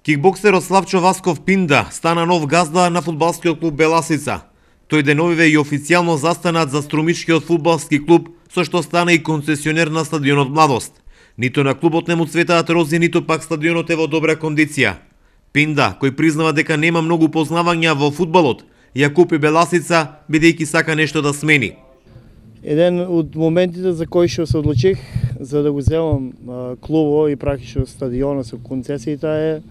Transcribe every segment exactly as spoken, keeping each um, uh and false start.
Кикбоксерот Славчо Васков Пинда стана нов газда на фудбалскиот клуб Беласица. Тој деновиве и официјално застанат за струмичкиот фудбалски клуб, со што стана и концесионер на стадионот Младост. Ниту на клубот не му цветаат рози, ниту пак стадионот е во добра кондиција. Пинда, кој признава дека нема многу познавања во фудбалот, ја купи Беласица бидејќи сака нешто да смени. Еден од моментите за кои што се одлучих за да го земам клубот и практично стадионот со концесијата е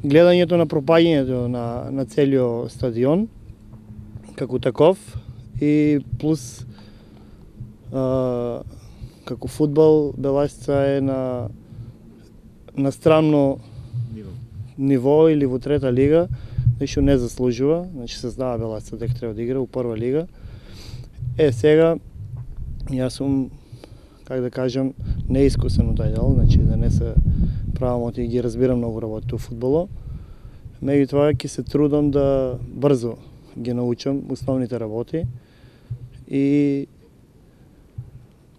гледањето на пропаѓањето на, на целиот стадион како таков и плюс а, како фудбал Беласица е на на странно ниво, ниво или во трета лига, нешто не заслужува, значи се знае Беласица дека треба да игра во прва лига. Е, сега, јас сум, как да кажам, неискусен од тај дел, значи да не се правам и ги разбирам многу работи во фудбалот. Меѓутоа ќе се трудам да брзо ги научам основните работи и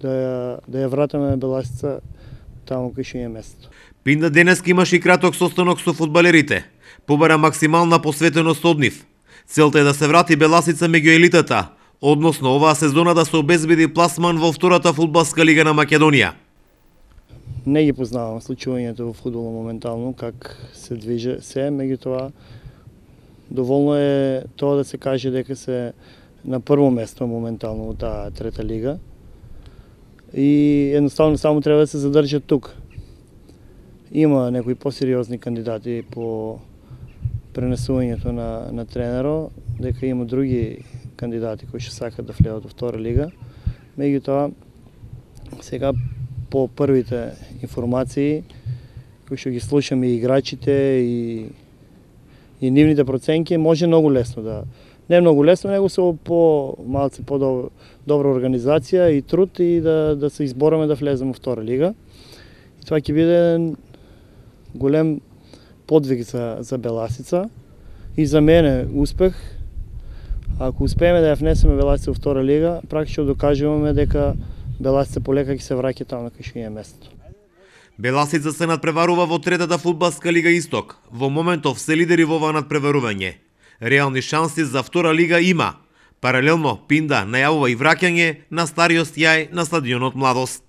да ја, да ја вратаме Беласица таму кај што е место. Пинда денеска имаше и краток состанок со фудбалерите. Побара максимална посветеност од нив. Целта е да се врати Беласица меѓу елитата, односно оваа сезона да се обезбеди пласман во втората фудбалска лига на Македонија. Не ги познавам случувањето во фудбалот моментално, как се движи се, меѓутоа доволно е тоа да се каже дека се на прво место моментално во таа трета лига и едноставно само треба да се задржат тука. Има некои посериозни кандидати по пренесувањето на, на тренеро, дека има други кандидати кои што сакат да влезат во втора лига. Меѓутоа, сега по првите информации кои што ги слушаме и играчите и и нивните проценки, може многу лесно да не многу лесно, него со по малце по добра организација и труд и да да се избораме да влеземе во втора лига. И тоа ќе биде голем подвиг за за Беласица и за мене успех. Ако успееме да ја внесеме Беласица во втора лига, практично докажуваме дека Беласица полека ќе се враќа таму кај што е место. Беласица се надпреварува во третата фудбалска лига Исток. Во моментов се лидери во ова надпреварување. Реални шанси за втора лига има. Паралелно, Пинда најавува и враќање на стариот јај на стадионот Младост.